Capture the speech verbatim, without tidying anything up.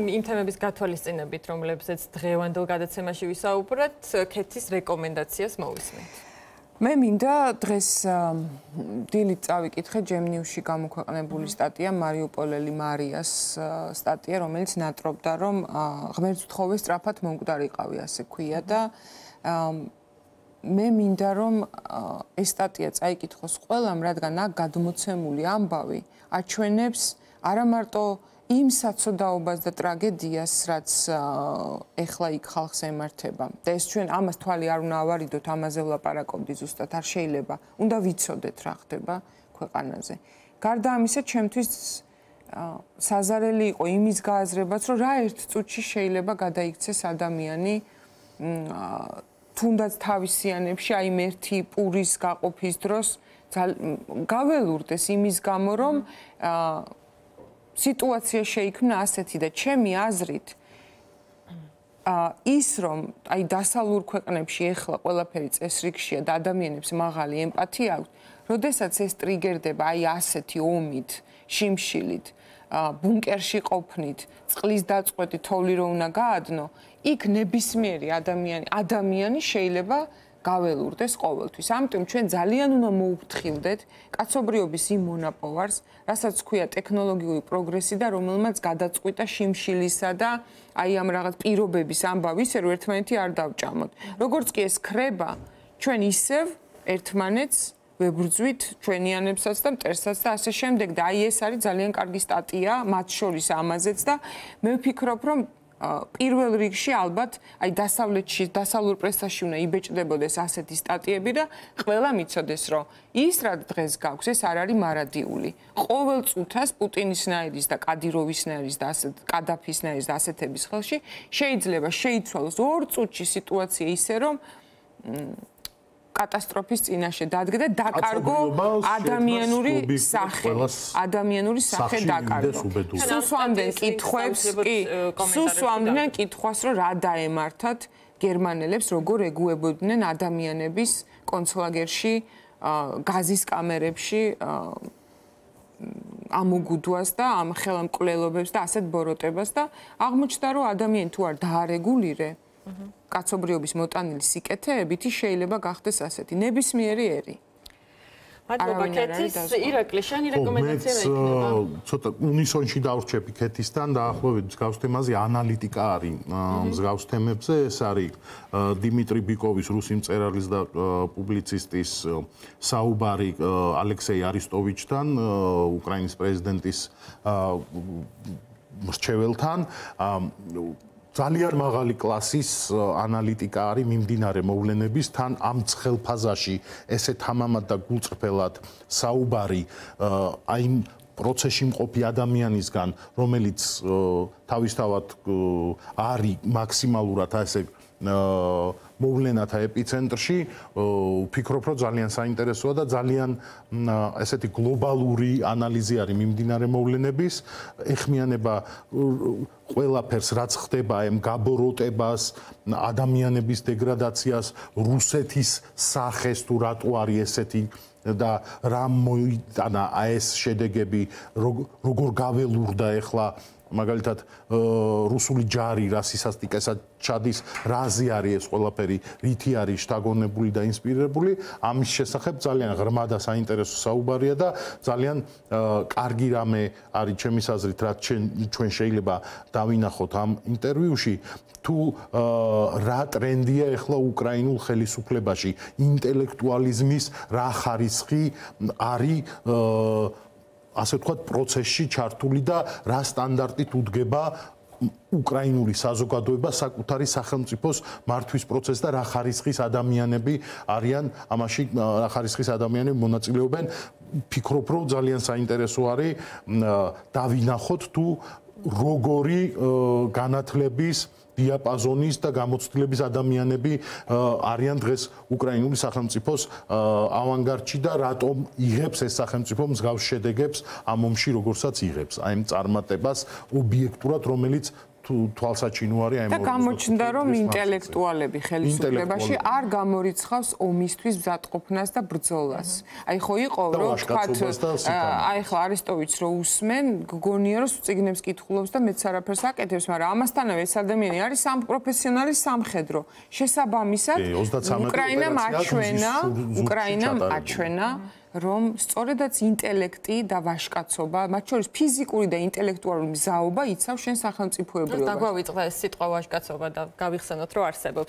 იმ თემების გათვალისწინებით, რომლებზეც დღევანდელ გადაცემაში ვისაუბრეთ, ქეთის რეკომენდაციას მოვისმენთ. მე მინდა დღეს დილით წავიკითხე ჯემნიუსში გამოქვეყნებული სტატია მარიუპოლელი მარიას სტატია, რომელიც ნატრობდა, რომ ღმერთთხოვე სწრაფად მომკვდარიყავი, ასე ქვია და მე მინდა რომ ეს სტატია წაიკითხოს ყველამ, რადგან აქ გადმოცემული ამბავი აჩვენებს არა მარტო იმ საცოდაობას და ტრაგედიას, რაც ეხლა იქ ხალხს ემართება. და ეს ჩვენ ამას თვალი არ უნდა ავარიდოთ, ამაზე ვლაპარაკობდი ზუსტად, არ შეიძლება. უნდა ვიცოდეთ რა ხდება ქვეყანაზე. გარდა ამისა, ჩემთვის საზარელი იყო იმის გააზრებაც, რომ რა ერთ წუთში შეიძლება გადაიქცეს ადამიანი თუნდაც თავისიანებში, აი იმ ერთი პურის გაყოფის დროს გაველურდეს იმის გამო, რომ სიტუაცია შეიქმნა ასეთი და ჩემი აზრით ის რომ აი დასავლურ ქვეყნებში ეხლა ყველაფერი წესრიგშია და ადამიანებს მაღალი ემპათია აქვს, როდესაც ეს ტრიგერდება აი ასეთი ომით, შიმშილით, ბუნკერში ყოფნით, წყლის დაწყვეტი თოვლი რო უნდა გაადნო, იქ ნებისმიერი ადამიანი, ადამიანი შეიძლება გაველურდეს ყოველთვის. ამიტომ ჩვენ ძალიან უნდა მოუფრთხილდეთ კაცობრიობის იმ მონაპოვარს, რასაც ქვია ტექნოლოგიური პროგრესი და რომელმაც გადაწყვიტა შიმშილისა და აი ამ რაღაც პირობების ამბავი, ისე რომ ერთმანეთი არ დავჭამოთ. როგორც კი ეს ქრება, ჩვენ ისევ ერთმანეთს ვებრძვით ჩვენიანებსაც და მტერსაც და ასე შემდეგ და აი ეს არის ძალიან კარგი სტატია, მათ შორის ამაზეც და მე ვფიქრობ, რომ პირველ რიგში ალბათ აი დასავლეთში, დასავლურ პრესაში უნდა იბეჭდებოდეს ასეთი სტატიები და ყველა მიცოდეს, რომ ის რა დღეს გაქვს, ეს არ არის მარადიული. ყოველ წუთას პუტინისნაირის და კადიროვისნაირის და ასეთ კადაფისნაირის და ასეთების ხელში შეიძლება შეიცვალოს ორ წუთში სიტუაცია ისე, რომ კატასტროფის წინაშე დადგა და დაკარგო ადამიანური სახე, ადამიანური სახე დაკარგო. სუსვამდნენ კითხვებს, კი, სუსვამდნენ კითხვას, რომ რა დაემართათ გერმანელებს, როგორ ეგუებოდნენ ადამიანების კონცლაგერში, გაზის კამერებში ამოგუდვას და ამ ხელმკვლელობებს და ასეთ ბოროტებას და აღმოჩნდა, რომ ადამიანი თუ არ დაარეგულირე კაცობრიობის მოტანილი სიკეთეებით შეიძლება გახდეს ასეთი ნებისმიერი ერი. მადლობა ქეთის, ირაკლი, შენი რეკომენდაცია იქნება? ცოტა უნისონში დავრჩები ქეთისთან, დაახლოებით მსგავს თემაზე ანალიტიკა არის მსგავს თემებზე, ეს არის დიმიტრი ბიკოვის, რუსი მწერალის და პუბლიცისტის საუბარი ალექსეი არისტოვიჩთან, უკრაინის პრეზიდენტის მრჩეველთან. ძალიან მაღალი კლასის ანალიტიკა არის მიმდინარე მოვლენების თან ამ ცხელ ფაზაში ესე თამამად და გულწრფელად საუბარი აი პროცესში მყოფი ადამიანისგან, რომელიც თავისთავად არის მაქსიმალურად ასე მოვლენათა ეპიცენტრში, ვფიქრობ, რომ ძალიან საინტერესოა და ძალიან ესეთი გლობალური ანალიზი არის მიმდინარე მოვლენების, ეხმიანება ყველაფერს, რაც ხდება, ამ გაბოროტებას, ადამიანების დეგრადაციას, რუსეთის სახეს თუ რატო არის ესეთი და რა მოიტანა ეს შედეგები, როგორ გაველურდა ეხლა მაგალითად რუსული ჯარი რასისასტიკესად ჩადის, რაზე არის ეს ყველაფერი, რითი არის შთაგონებული და ინსპირირებული, ამის შესახებ ძალიან ღრმა და საინტერესო საუბარია და ძალიან კარგი რამე არის ჩემის აზრით, რაც ჩვენ შეიძლება დავინახოთ ამ ინტერვიუში, თუ რა ტრენდია ეხლა უკრაინულ ხელისუფლებაში, ინტელექტუალიზმის რა ხარისხი არის ასე ვთქვათ, პროცესში ჩართული და რა სტანდარტით უდგება უკრაინული საზოგადოება საკუთარი სახელმწიფოს მართვის პროცესს და რა ხარისხის ადამიანები არიან ამაში, რა ხარისხის ადამიანები მონაწილეობენ. ვფიქრობ, რომ ძალიან საინტერესო არის დავინახოთ თუ როგორი განათლების დიაპაზონის და გამოცდილების ადამიანები არიან დღეს უკრაინული სახელმწიფოს ავანგარდში და რატომ იღებს ეს სახელმწიფო მსგავს შედეგებს ამ ომში, როგორცაც იღებს, აი ამ წარმატებას ობიექტურად, რომელიც თვალსაჩინო არის აი და გამოჩნდა რომ ინტელექტუალები ხელისუფლებაში არ გამორიცხავს ომისთვის მზადყოფნას და ბრძოლას. აი ხო იყო რომ თქვათ აი ხო არესტოვიჩს რო უსმენ გგონია რომ წიგნებს კითხულობს და მეც არაფერს აკეთებს, მაგრამ ამასთანავე ეს ადამიანი არის სამ პროფესიონალი სამხედრო. შესაბამისად უკრაინამ აჩვენა, უკრაინამ აჩვენა რომ სწორედაც ინტელექტი და ვაჟკაცობა, მათ შორის ფიზიკური და ინტელექტუალური მზაობა იცავს შენ სახელმწიფოებრიობას. დაგვავიწყდა ეს სიტყვა ვაჟკაცობა და გავიხსენოთ რომ არსებობს.